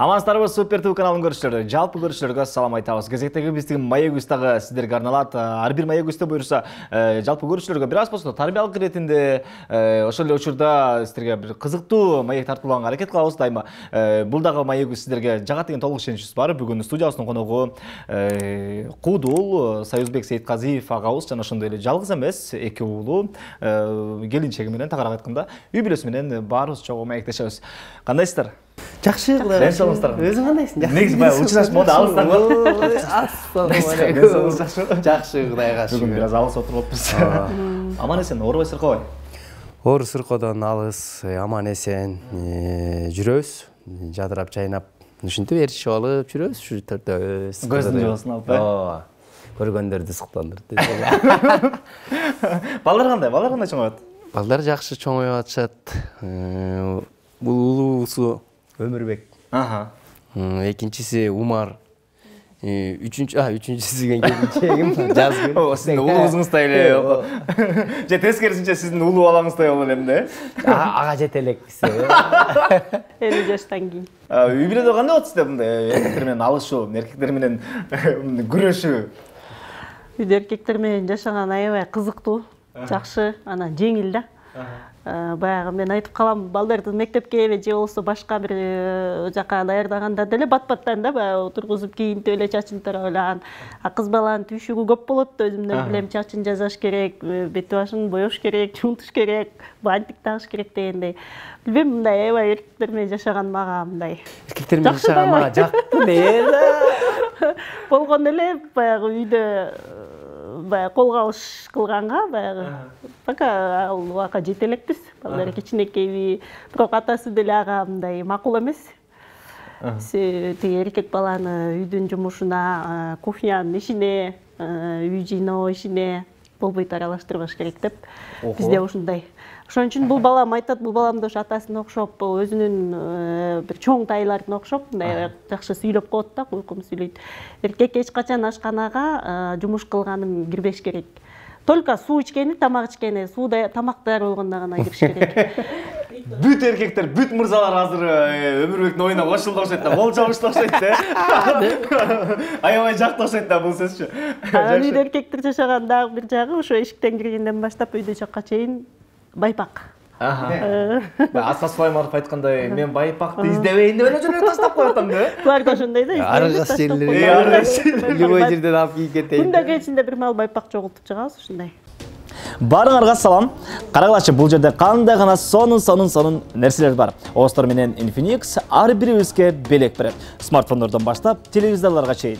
Амансыздарбы, Супер ТВ каналын көрүүчүлөрү. Жалпы көрүүчүлөргө салам айтабыз. Кезектеги биздин маек дагы сиздерге арналат. Ар бир маек буюрса, жалпы көрүүчүлөргө бир аз болсо тарбиялык иретинде, ошол эле учурда сиздерге бир кызыктуу маек тартуулганга аракет кылабыз дайыма. Бул дагы маек сиздерге жагат деген толук ишеничибиз бар. Бүгүн студиябыздын коногу Куудул Союзбек Сейитказиев агабыз жана ошондой эле жалгыз эмес, эки уулу келинчеги менен, тагыраак айтканда, үй бүлөсү менен баарыбыз чогуу маектешебиз. Кандайсыздар? Жакшы, Кудай саламатсыздар. Өзүң кандайсың? Негизи баягы учурашып монда алыстан го. Ассалам. Жакшы, Кудайга шүгүр. Бүгүн бир аз алыс отуруп атпыз. Аман эсен, оорубай сыркабай. Оор сыркоодон алыс, аман эсен жүрөбүз. Жадырап чайнап, ушинтип ээрчишип алып жүрөбүз, ушу төртөөбүз. Көздүн жабасын алып, ооба. Көргөндөрдү сыктандырып. Балдар кандай чоңоюп атат? Балдар жакшы чоңоюп атышат. Бул улуусу Өмүрбек. Экинчиси Умар. Үчүнчүсү келинчегим Жазгүл. Сиздин улуңуздай эле. Же тескерисинче сиздин улуу балаңыздай болуп элем да? Ага жете элекпиз. 50 жаштан кийин. Үй бүлөдө кандай болот сизде мындай эркектер менен алышуу, эркектер менен күрөшүү? Үйдө эркектер менен жашаган аябай кызыктуу, жакшы, анан жеңил да. Баягы мен айтып калам, балдарды мектепке же болбосо башка бир жака даярдаганда деле бат-баттан да баягы отургузуп кийинтип эле чачын тараблаган. Кыз баланын түйшүгү көп болот да, өзүмдөн билем, чачын жасаш керек, бети башын боёш керек, жуунтуш керек, бантик тагыш керек дегендей. Билбейм, мындай аябай эркектер менен жашаган мага мындай. Эркектер менен жашаган мага жакты эле. Болгон эле баягы үйдө баягы кол кабыш кылганга баягы пока ал убакка жете элекпиз. Балдар кичинекейби, бирок атасы деле ага мындай макул эмес. Тиги эркек баланы үйдүн жумушуна, кухнянын ишине, үй жыйноо ишине болбойт аралаштырбаш керек деп. Бизде ушундай. Ошон үчүн бул балам айтат, бул балам да ошо атасына окшоп, өзүнүн бир чоң тайларына окшоп, мындай жакшы сүйлөп коет да, куйкум сүйлөйт. Эркек эч качан ашканага жумуш кылганын кирбеш керек. Только суу ичкени, тамак ичкени, сууда тамак даяр болгондо гана кириш керек. Бүт эркектер, бүт мырзалар азыр Өмүрбектин оюна кошулду окшойт да, кол чабышты окшойт да. Аябай жакты окшойт да бул сөзчү. Анан үйдө эркектер жашаган дагы бир жагы ошо эшиктен киргенден баштап үйдө жакка чейин байпак. Асқар Сулайманов айткандай, мен байпакты издебейин деп эле жөнөп таштап коюп атам да. Булар да ошондой да. Аргас жерлерге любой жерден алып кийип кетейин. Күндө кечинде бир мал байпак чогултуп чыгабыз ушундай. Баарыңарга салам. Карагылачы, бул жерде кандай гана сонун нерселер бар. Остор менен Infinix ар бирибизге белек берет. Смартфондордон баштап телевизорлорго чейин.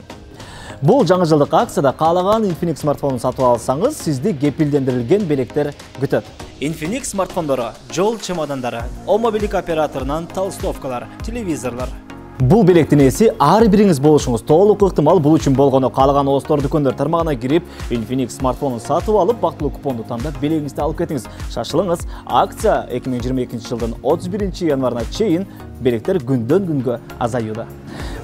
Бул жаңы жылдык акцияда каалаган Infinix смартфонун сатып алсаңыз, сизди кепилдендирилген белектер күтөт. Infinix смартфондору, жол чемодандары, мобилдик операторунан толстовкалар, телевизорлор. Бул белектин ээси ар бириңиз болушуңуз толук ыктымал. Бул үчүн болгону каалаган Остор дүкөндөр тармагына кирип, Infinix смартфонун сатып алып, бактылуу купонду тандап, белегиңизди алып кетиңиз. Шашылыңыз. Акция 2022 жылдын 31 январына чейин, белектер күндөн күнгө азаюуда.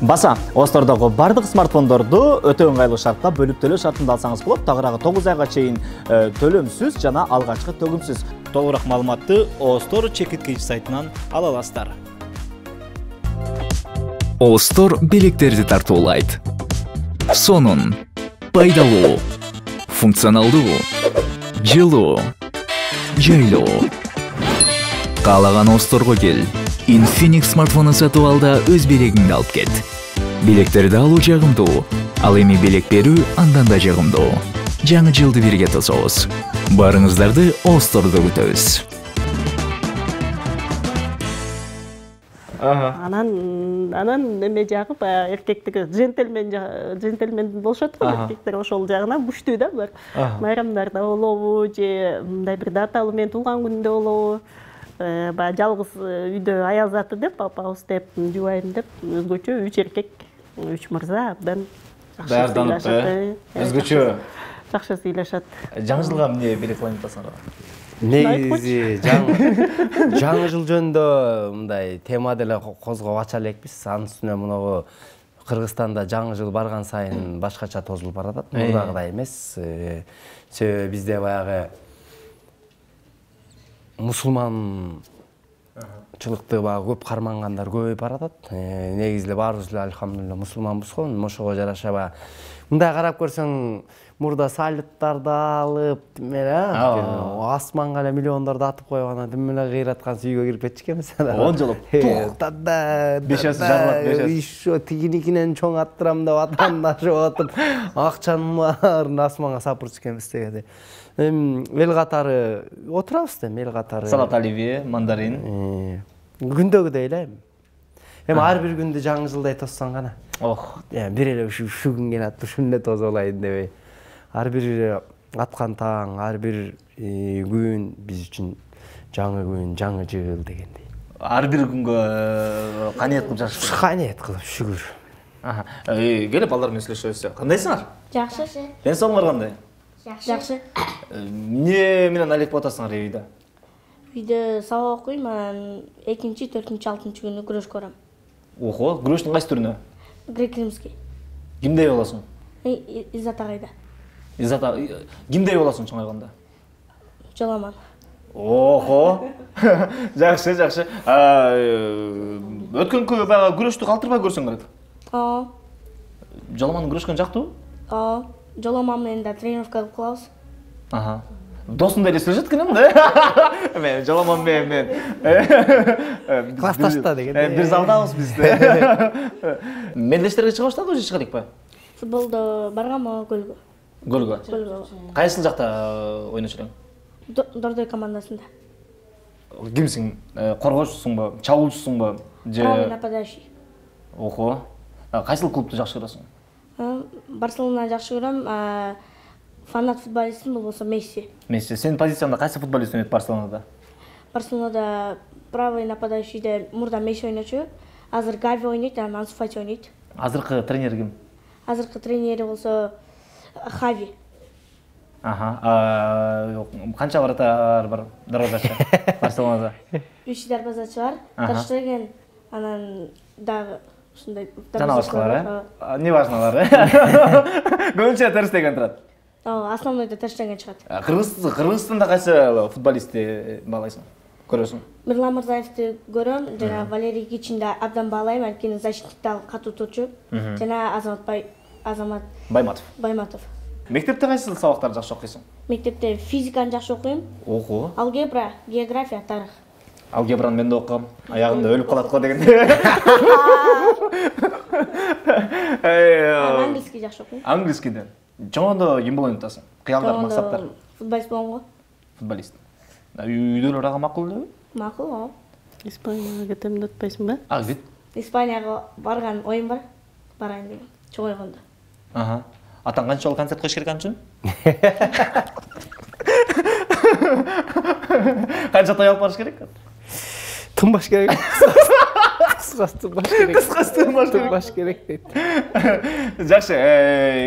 Баса, Остордогу бардык смартфондорду өтө ыңгайлуу шартта бөлүп төлөө шартында алсаңыз болот. Тагыраагы 9 айга чейин төлөмсүз жана алгачкы төгүмсүз. Толугураак маалыматты Остор чекиткич сайтынан ала аласыздар. Остор белектерди тартуулайт. Сонун, пайдалуу, функционалдуу, жылуу, жайлуу. Каалаган Осторго кел. Infinix смартфонун сатып алда өз белегиңди алып кет. Белектерди алуу жагымдуу, ал эми белек берүү андан да жагымдуу. Жаңы жылды бирге тособуз. Барыңыздарды Остордо күтөбүз. Анан эме жагы баягы эркектиги джентльмен болушат го, эркектер ошол жагына күчтүү да булар. Майрамдарда болобу, же мындай бир даталуу мен туулган күндө болобу, баягы жалгыз үйдө аял заты деп, папабыз деп, жубайым деп, өзгөчө 3 эркек, 3 мырза абдан даярданып, өзгөчө жакшы сүйлөшөт. Жаңы жылга эмне белек кылайын деп атасыңар? Негизи жаңы жыл жөнүндө мындай тема деле козгоп ача элекпиз. Анын үстүнө мунагу Кыргызстанда жаңы жыл барган сайын башкача тозулуп баратат. Мурдагыдай эмес. Себеби бизде баягы мусулман чылыкты баягы көп кармангандар көбөйүп баратат. Негизи эле баарыбыз эле альхамдулилла мусулманбыз го. Ошого жараша баягы мындай карап көрсөң, мурда салюттарды алып, асманга эле миллиондорду атып коюп, анан тим эле кыйраткан үйгө кирип кетчү экенбиз. 10 жолу. Бешеси жарылат, бешеси. Ишо тигиникинен чоң аттырам деп атандашып атып, акчанын баарын асманга сапырчу экенбиз деди. Эл катары отурабыз да, эл катары. Салат оливье, мандарин. Күндөгүдөй эле. Эми ар бир күндү жаңы жылдай тоссоң гана. Ох, Бир эле ушу күн келат, ушуну эле тосуп алайын дебей. Ар бир аткан таң, ар бир күн биз үчүн жаңы күн, жаңы жыл дегендей. ар бир күнгө каниет кылып жашаш. Каниет кылып, шүгүр. Келип балдар менен сүйлөшөбүз. Кандайсыңар? Жакшы. Денсаулыгыңар кандай? Жакшы. Эмне менен алек атасыңар үйдө? Үйдө сабак окуйм, анан 2-чи, 4-чи, 6-чы күнү күрөш көрөм. Охо, күрөштүн кайсы түрүнө? Грек-римский. Кимдей болосуң? Иззат агайда. Иззат кимдей болосуң чоңойгондо? Жоламан. Охо. Жакшы. Өткөнкү баягы күрөштү калтырбай көрсөң керек. Жоламан күрөшкөн жактыбы? Жоламан менен да тренировка кылып калабыз. Досуңдай эле сүйлөшөт экенем да. Мен Жоламан мен. Классташта деген. Бир залдабыз биз. Мелдештерге чыга баштадыбы же чыга элекпи? Футболдо барганмы көлгө? Көлгө. Кайсы жакта ойночу элең? Дордой командасында. Кимсиң? Коргоочусуңбу, чабуучусуңбу же? Правый нападающий. Охо. Кайсыл клубду жакшы көрөсүң? Барселона жакшы көрөм. Фанат футболистим болсо Месси. Месси. Сенин позицияңда кайсы футболист ойнойт Барселонада? Барселонада правый нападающийде мурда Месси ойночу. Азыр Гави ойнойт, анан Ансу Фати ойнойт. Азыркы тренер ким? Азыркы тренери болсо Хави. Канча вратар бар дарбазачы Барселонада? 3 дарбазачы бар. Таштеген, анан дагы ушундай жана башкалар, не важналар. Көбүнчө Терстеген турат. Основнойдо Терстеген чыгат. Кыргызстанда кайсы футболистти баалайсың? Көрөсүң? Мирлан Мырзаевди көрөм, жана Валерий Кичинди абдан баалайм, анткени защитникте ал катуу турчу. Жана Азамат Байматов. Мектепте кайсы сабактарды жакшы окуйсуң? Мектепте физиканы жакшы окуйм. Ого. Алгебра, география, тарых. Алгебраны мен да окугам. Аягында өлүп калат го деген. Английский жакшы окуйм. Английскийде. Чоңондо ким болоюн атасың? Кыялдар, максаттар. Футболист болгон го. Футболист. Үйдөлөр ага макул элеби? Макул. Испанияга кетем деп атпайсыңбы? Кет. Испанияга барган оюм бар. Барайын деген. Чоңойгондо. Атаң канча жолу концерт коюш керек анчы? Канча той алып барыш керек? Тынбаш керек. Тынбаш керек дейт. Жакшы,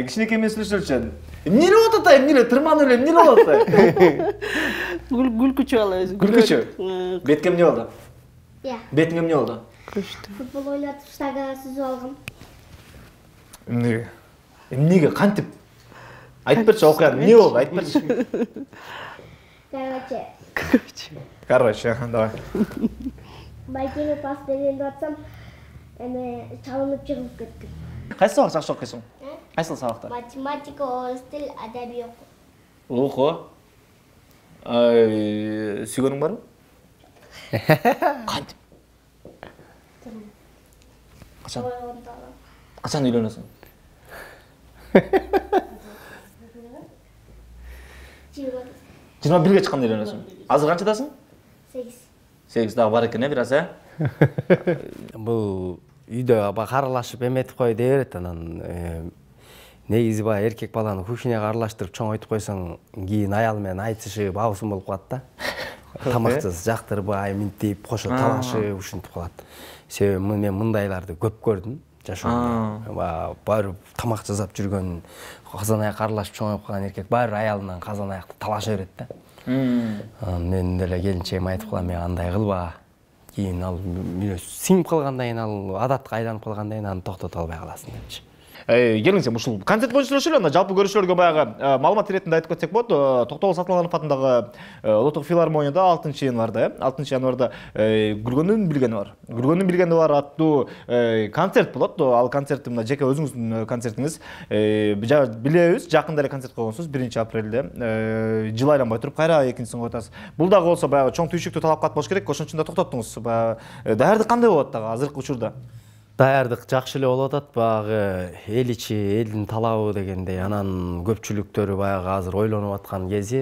кичинекей мен сүйлөшөлүчү. Эмне болуп атат? Эмне тырманып эле эмне болуп атат? Күлкүчү ал өзү. Күлкүчү. Бетке эмне болду? Бетиңе эмне болду? Футбол ойнатып штанганы сүзүп алгам. Эмнеге, кантип? Айтып берчи, окуян, эмне болду? Айтып берчи. Короче, давай. Байкеге пас бергенди атсам, эми чалынып чыгып кеттим. Кайсы сабак жакшы окуйсуң? Кайсыл сабактар? Математика, орус тил, адабий окуйм. Охо. Сүйгөнүң барбы? Кантип? Качан үйлөнөсүң? 21-ге чыкканда үйлөнөсүң. Азыр канчадасың? 8 дагы бар экен, бир аз, Бул үйдө каралашып эметип кой дей берет, анан негизи баягы эркек баланы кухняга аралаштырып чоңойтуп койсоң, кийин аял менен айтышып, абысым болуп калат да. Тамаксыз жактырбай, минтип, кошо талашып, ушинтип калат. Себеби мен мындайларды көп көрдүм жашоомдо. Баары тамак жасап жүргөн, казан аяк аралашып чоңоюп калган эркек баары аялынан казан аякты талаша берет да. Мен деле келинчегиме айтып калам, мен андай кылба. Кийин ал сиңип калгандан кийин, ал адатка айланып калгандан кийин аны токтото албай каласың депчи. Келиңиз, ушул концерт боюнча эле анда жалпы көрүүчүлөргө баягы маалымат иретинде айтып кетсек болот. Токтогул Сатылганов атындагы Улуттук филармонияда 6-январда Күлгөндүн билгени бар аттуу концерт болот. Ал концерт мына жеке өзүңүздүн концертиңиз. Билебиз, жакында эле концерт койгонсуз 1-апрелде. Жыл айланбай туруп кайра экинчисин коюп атасыз. Бул дагы болсо баягы чоң түйшүктүү талапкат болуш керек. Ошон үчүн да токтоттуңуз. Даярдык кандай болот дагы азыркы учурда? Даярдык жакшы эле болуп атат. Баягы эл ичи, элдин талабы дегендей, анан көпчүлүктөрү баягы азыр ойлонуп аткан кези.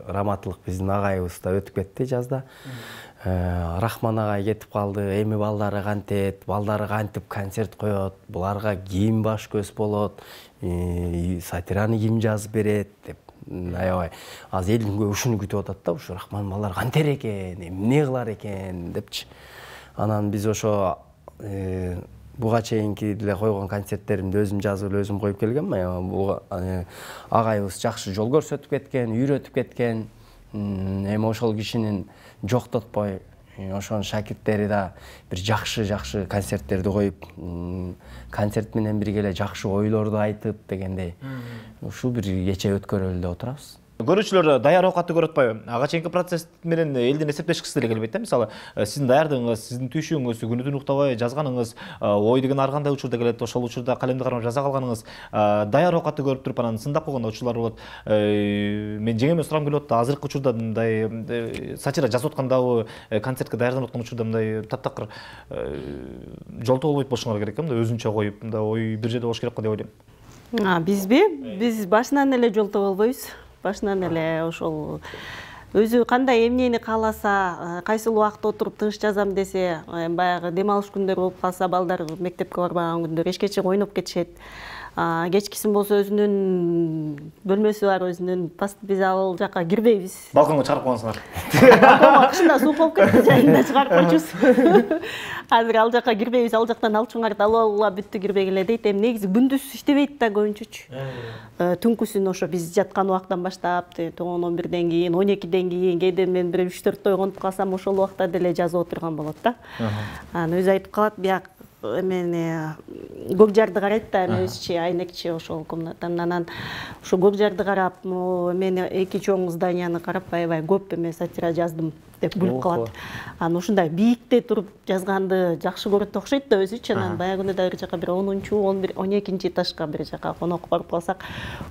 Раматтылык биздин агайыбыз да өтүп кетти жазда. Рахман агай кетип калды. Эми балдары кантет, балдары кантип концерт коет, буларга ким баш көз болот, сатираны ким жазып берет деп аябай азыр элдин көбү ушуну күтүп атат да. Ушу Рахман балдар кантер экен, эмне кылар экен депчи. Анан биз ошо буга чейинки деле койгон концерттеримди өзүм жазып, өзүм коюп келгенмин. Бул агайыбыз жакшы жол көрсөтүп кеткен, үйрөтүп кеткен. Эми ошол кишинин жоктотпой, ошонун шакирттери да бир жакшы концерттерди коюп, концерт менен бирге эле жакшы ойлорду айтып дегендей. Ушул бир кече өткөрөлү деп отурабыз. Көрүүчүлөр даяр оокатты көрүп атпайбы? Ага чейинки процесс менен элдин эсептешкиси деле келбейт да. Мисалы, сиздин даярдыгыңыз, сиздин түйшүгүңүз, күнү-түн уктабай жазганыңыз, ой деген ар кандай учурда келет, ошол учурда калемди кармап жаза калганыңыз, даяр оокатты көрүп туруп анан сындап койгон учурлар болот. Мен жеңеме сурагым келип атты, азыркы учурда мындай сатира жазып аткандабы, концертке даярданып аткан учурда мындай таптакыр жолтоо болбойт болушуңар керек, мындай өзүнчө коюп, мындай ой бир жерде болуш керек го деп ойлойм. Бизби? Биз башынан эле жолтоо болбойбуз. Башынан эле ошол өзү кандай эмнени кааласа, кайсыл убакта отуруп тыныч жазам десе, баягы дем алыш күндөр болуп калса, балдар мектепке барбаган күндөр эчкече ойноп кетишет. Кечкисин болсо өзүнүн бөлмөсү бар, өзүнүн паст, биз ал жака кирбейбиз. Балконго чыгарып койгонсуңар. Балконго кышында суу болуп кетти, жайында чыгарып койчубуз. Азыр ал жака кирбейбиз, ал жактан алчуңарды алып алгыла бүттү, кирбегиле дейт. Эми негизи күндүз иштебейт да көбүнчөчү. Түнкүсүн ошо биз жаткан убактан баштап, 10-11ден кийин, 12ден кийин, кээде мен бир 3-4 ойгонуп калсам, ошол убакта деле жазып отурган болот да. Анан өзү айтып калат, бияк эмени көк жарды карайт да, эми өзчи айнекчи ошол комнатанын. Анан ошо көк жарды карап, мен 2 чоң зданияны карап, аябай көп эме сатира жаздым деп күлүп калат. Анан ушундай бийикте туруп жазганды жакшы көрөт окшойт да өзүчү. Анан баягы да бир жака бир 10-12 этажга бир жака конок барып калсак,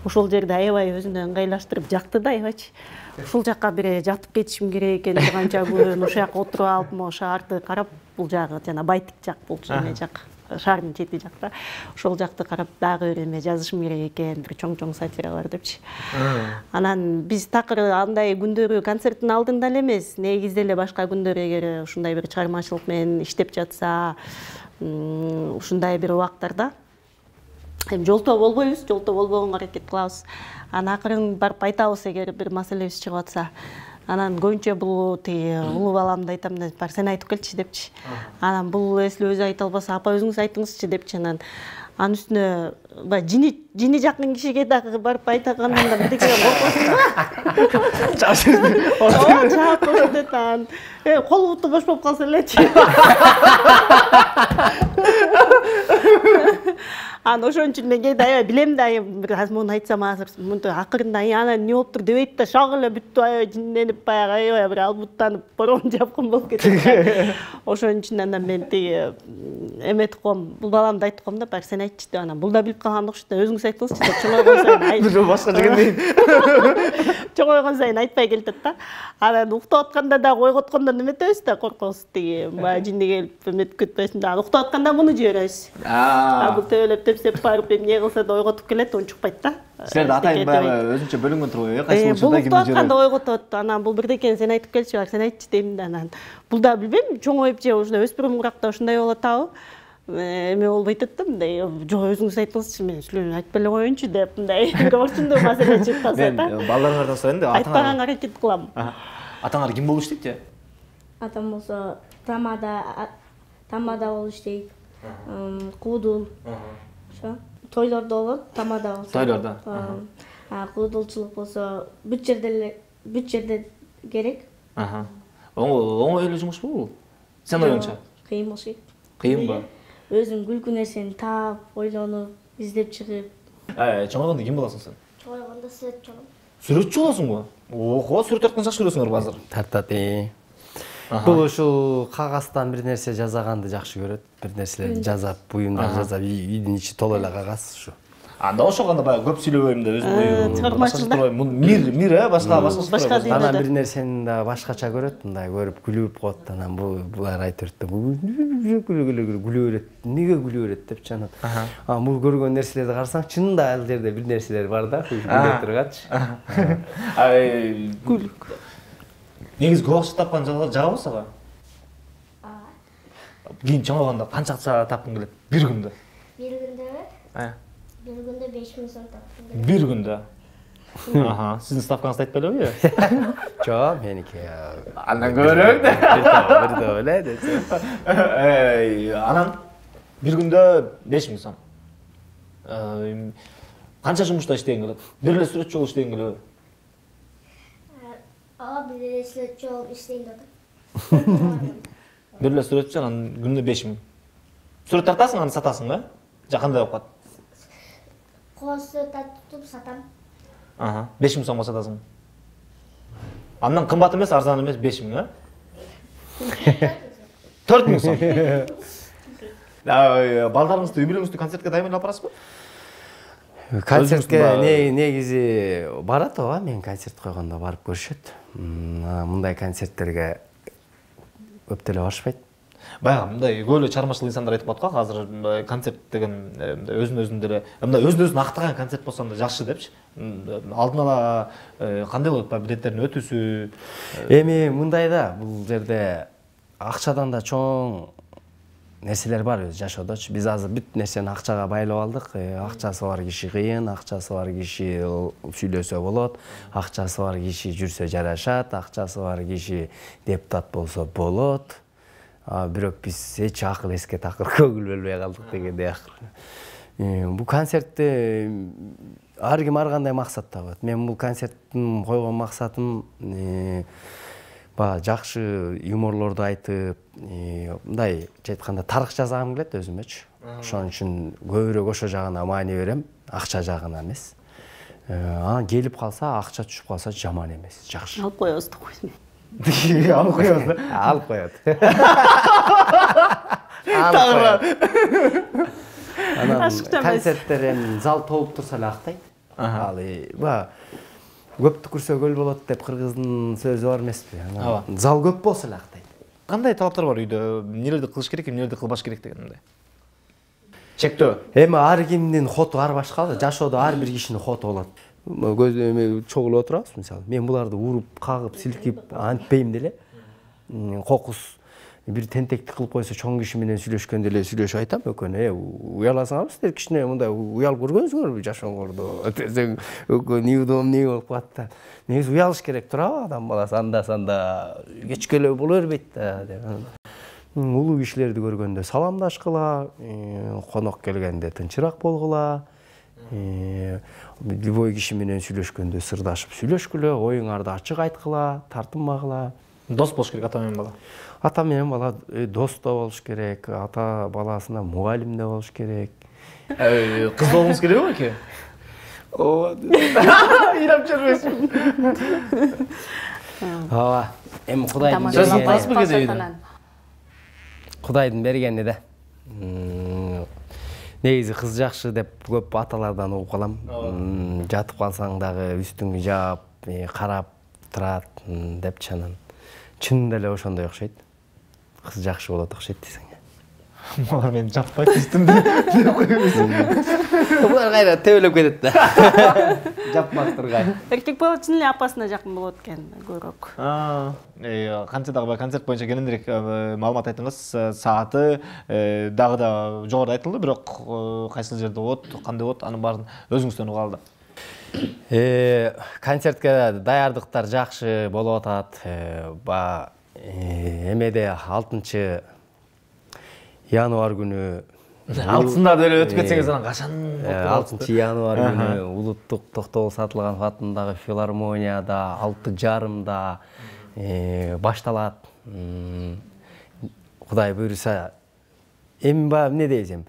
ошол жерде аябай өзүнө ыңгайлаштырып жакты да аябайчы. Ушул жака бир жатып кетишим керек экен, канча күн ошол жака отуруп алып, могу шаарды карап, бул жагы жана байтик жак болчу, эме жак, шаардын чети жакта. Ошол жакты карап дагы бир эме жазышым керек экен, бир чоң сатиралар депчи. Анан биз такыр андай күндөрү концерттин алдында эле эмес, негизде эле башка күндөр эгер ушундай бир чыгармачылык менен иштеп жатса, ушундай бир убактарда эми жолтоо болбойбуз, жолтоо болбогонго аракет кылабыз. Анан акырын барып айтабыз эгер бир маселебиз чыгып атса. Анан көбүнчө бул улуу баламды айтам да, бар сен айтып келчи депчи. Анан бул эсли өзү айта албаса, апа өзүңүз айтыңызчы депчи. Анан анын үстүнө баягы жини жакын кишиге дагы барып айтаганымда бирдекеге коркосуң да. Чаап коет анан. Кол буту бош болуп калса элечи. Анан ошон үчүн мен кээде аябай билем да, бир аз муну айтсам азыр мынтип акырында анан эмне болуптур дебейт да, шак эле бүттү аябай жинленип, баягы аябай бир албуттанып, борон жапкын болуп кетет. Ошон үчүн анан мен эметип коем, бул баламды айтып коем да, бар сен айтчы деп. Анан бул да билип калган окшойт да, өзүңүз айтыңызчы деп чоңойгон сайын айтып. Башка жегендейин. Чоңойгон сайын айтпай келатат да. Анан уктап атканда дагы ойготкондон эметебиз да, коркобуз баягы жинди келип эметип кетпесин да. Уктап атканда муну жиберебиз. Бул төбөлөп тепсеп барып эмне кылса да ойготуп келет, унчукпайт да. Силерде атайын баягы өзүнчө бөлүнгөн турбайбы? Кайсы учурда кимди жиберет? Бул атканда ойготот. Анан бул бирдекени сен айтып келчи, бар сен айтчы дейм да. Анан бул да билбейм, чоңоюп же ушундай өспүрүм уракта ушундай болуп атабы? Эме болбойт да, мындай жок өзүңүз айтыңызчы, мен силерге айтпай эле коеюнчу деп мындай көбүрчүндүү маселе чыгып калса да. Мен балдарыңардан сурайын да, айтпаганга аракет кылам. Атаңар ким болуш дейт же? Атам болсо тамада болуш дейт. Куудул. Ошо. Тойлордо болот, тамада болсо. Тойлордо. Куудулчулук болсо бүт жерде керек. Оңой эле жумушпу бул? Сен оюңча? Кыйын болуш керек. Кыйынбы? Өзүң күлкү нерсени таап, ойлонуп, издеп чыгып. Чоңойгондо ким болосуң сен? Чоңойгондо сүрөтчү болом. Сүрөтчү болосуңбу? Ого, сүрөт тартканды жакшы көрөсүңөр азыр. Тартат. Бул ушул кагаздан бир нерсе жасаганды жакшы көрөт. Бир нерселерди жасап, буюмдар жасап, үйдүн ичи толо эле кагаз ушу. Анда ошогондо баягы көп сүйлөбөйм да, өзүм чыгармачылыкта. Мир, башка Анан бир нерсени да башкача көрөт, мындай көрүп күлүп коет. Анан булар айтып күлө берет. Эмнеге күлө берет депчи анан. Бул көргөн нерселерди карасаң, чынында ал жерде бир нерселер бар да, күлө тургачы. Күлүк. Негизи көп акча тапкан жагабы сага? Кийин чоңойгондо канча акча тапкың келет бир күндө? Бир күндө 5000 сом таптым. Бир күндө? Сиздин ставкаңызды айтпайлыбы? Жок, меники. Андан көрөк да. Бир эле десе. Анан бир күндө 5000 сом. Канча жумушта иштеген келет? Бир эле сүрөтчү болуп иштеген келеби? Бир эле сүрөтчү болуп иштейм да. Бир эле сүрөтчү, анан күнүнө 5000. Сүрөт тартасың, аны сатасың да? Же кандай болуп калат? Кооз тартып сатам. 5000 сомго сатасың. Андан кымбат эмес, арзан эмес 5000, 4000 сом. Балдарыңызды, үй бүлөңүздү концертке дайындап барасызбы? Концертке негизи барат ооба, мен концерт койгондо барып көрүшөт. Мындай концерттерге көп деле барышпайт. Баягы мындай көп эле чыгармачыл инсандар айтып коет го, азыр концерт деген өзүн деле, мындай өзүн актаган концерт болсо да жакшы депчи. Алдын ала кандай болот, билеттердин өтүүсү? Эми мындай да, бул жерде акчадан да чоң нерселер бар өз жашоодочу. Биз азыр бүт нерсени акчага байлап алдык. Акчасы бар киши кыйын, акчасы бар киши сүйлөсө болот, акчасы бар киши жүрсө жарашат, акчасы бар киши депутат болсо болот. Бирок биз эч акыл эске такыр көңүл бөлбөй калдык дегендей акыр. Бул концертте ар ким ар кандай максат табат. Мен бул концерттин койгон максатым жакшы юморлорду айтып, мындай айтканда тарых жасагым келет өзүмөчү. Ошон үчүн көбүрөөк ошо жагына маани берем, акча жагына эмес. Анан келип калса, акча түшүп калса жаман эмес, жакшы. Алып коебуз да койсун. Алып коебуз да? Алып коет. Анан концерттер эми зал толуп турса эле актайт. Ал көптү көрсө көл болот деп кыргыздын сөзү бар эмеспи? Зал көп болсо эле актайт. Кандай талаптар бар үйдө? Эмнелерди кылыш керек, эмнелерди кылбаш керек дегенде? Чектөө. Эми ар кимдин хоту ар башка да, жашоодо ар бир кишинин хоту болот. Көзү чогулуп отурабыз мисалы. Мен буларды уруп, кагып, силкип антпейм деле. Кокус бир тентекти кылып койсо, чоң киши менен сүйлөшкөндө эле сүйлөшүп айтам экөөнү. Уяласаңарбы силер кичине мындай уялып көргөнсүңөрбү жашооңордо? Десең экөө неудобно не болуп калат да. Негизи уялыш керек турабы адам баласы анда-санда кечкелөө боло бербейт да деп. Улуу кишилерди көргөндө саламдашкыла, конок келгенде тынчыраак болгула. Любой киши менен сүйлөшкөндө сырдашып сүйлөшкүлө, оюңарды ачык айткыла, тартынмагыла. Дос болуш керек ата менен бала. Ата менен бала дос да болуш керек, ата баласына мугалим да болуш керек. Кыз болуңуз керекби эке? Ооба. Ыйлап жүрбөйсүң. Ооба. Эми Кудайдын бергени да. Негизи кыз жакшы деп көп аталардан угуп калам. Жатып калсаң дагы үстүңдү жаап, карап турат деп чанан. Чынында эле ошондой окшойт. Кыз жакшы болот окшойт десең. Булар мени жатпайт үстүмдө деп койбойсуң. Булар кайра тебелеп кетет да. Жапмак тургай. Эркек бала чын эле апасына жакын болот экен көбүрөөк. Канча дагы концерт боюнча кененирээк маалымат айттыңыз. Сааты дагы да жогору айтылды, бирок кайсыл жерде болот, кандай болот, анын баарын өзүңүздөн угуп алды. Концертке даярдыктар жакшы болуп атат. Эмеде 6 январь күнү алтында деле өтүп кетсеңиз анан качан? 6 январь күнү улуттук Токтогул Сатылганов атындагы филармонияда 6:30 башталат. Кудай буйруса, эми эмне дейсем,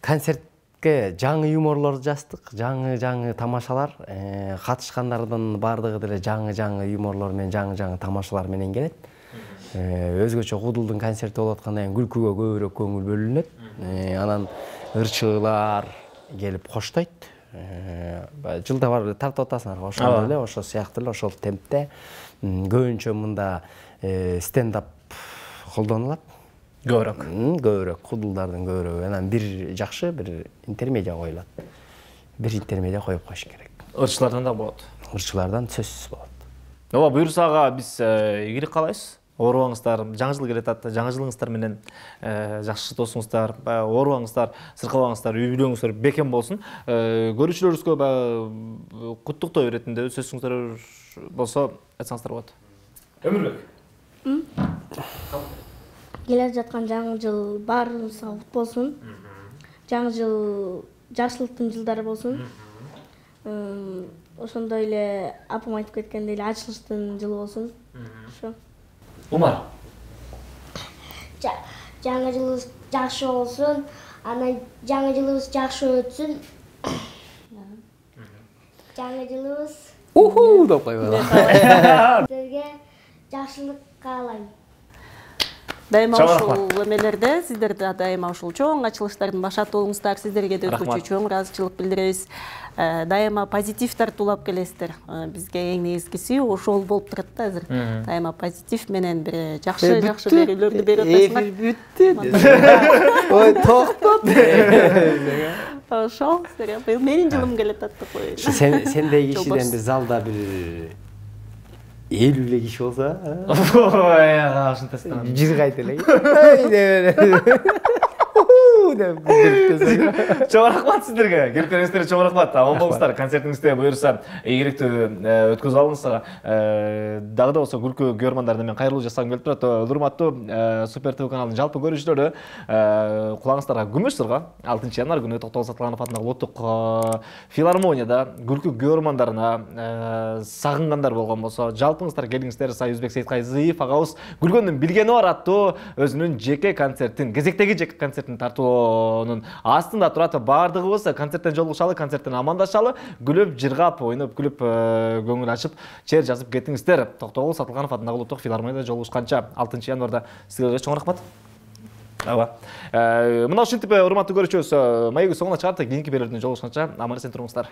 концерт жаңы юморлорду жаздык, жаңы тамашалар, катышкандардын баардыгы деле жаңы юморлор менен, жаңы тамашалар менен келет. Өзгөчө Кудулдун концерти болуп аткандан кийин күлкүгө көбүрөөк көңүл бөлүнөт. Анан ырчыылар келип коштойт. Жылда бар тартып атасыңар, ошондой эле, ошол сыяктуу эле, ошол темпте көбүнчө мында стендап колдонулат. Көбүрөөк Кудулдардын көбүрөөгү. Анан бир жакшы, бир интермедиа коюлат. Бир интермедиа коюп коюш керек. Ырчылардан да болот. Ырчылардан сөзсүз болот. Ооба, буюрса ага биз ийгилик каалайбыз. Оорубаңыздар, жаңы жыл келет, жаңы жылыңыздар менен жакшы досуңуздар, оорубаңыздар, сыркабаңыздар, үй бүлөңүздөр бекем болсун. Көрүүчүлөрүбүзгө куттуктоо иретинде сөзүңүздөр болсо айтсаңыздар болот. Өмүрбек. Келе жаткан жаңы жыл баарыбызга кут болсун. Жаңы жыл жакшылыктын жылдары болсун. Ошондой эле апам айтып кеткендей эле ачылыштын жылы болсун. Ошо. Умар. Жаңы жылыбыз жакшы болсун, анан жаңы жылыбыз жакшы өтсүн. Жаңы жылыбыз деп койгон. силерге жакшылык каалайм. Дайыма ушул эмелерде сиздерде дайыма ушул чоң ачылыштардын башаты болуңуздар, сиздерге да өткүчү чоң ыраазычылык билдиребиз. Дайыма позитив тартуулап келесиздер. Бизге эң негизгиси ошол болуп турат да азыр. Дайыма позитив менен бир жакшы берүүлөрдү берип атасыңар. Ой, токтот. Ошол, менин жылым келет аттып коеюн. Сендей кишиден бир залда бир 50 киши болса, Ой, ушунтасың. жир кайта эле. Чоң рахмат сиздерге. Келгениңиздерге чоң рахмат. Аман болуңуздар. Концертиңизде буюрса ийгиликтүү өткөзүп алыңыздар. Дагы да болсо күлкү көрөрмандарына мен кайрылуу жасагым келип турат. Урматтуу Супер ТВ каналынын жалпы көрүүчүлөрү, кулагыңыздарга күмүш сырга 6 январь күнү Токтогул Сатылганов атындагы улуттук филармонияда күлкү көрөрмандарына сагынгандар болгон болсо, жалпыңыздар келиңиздер. Союзбек Сейиткайзиев агабыз күлгөндүн билгени бар аттуу өзүнүн жеке концертин, кезектеги жеке концертин тартуунун астында турат. Баардыгыбыз концерттен жолугушалы, концерттен амандашалы, күлүп, жыргап, ойноп, күлүп, көңүл ачып, чер жазып кетиңиздер. Токтогул Сатылганов атындагы улуттук филармонияда жолугушканча 6 январда сиздерге чоң рахмат. Мына ушинтип урматтуу көрүүчүбүз, маегибиз соңуна чыгарды. Кийинки берүүдөн жолугушканча аман эсен туруңуздар.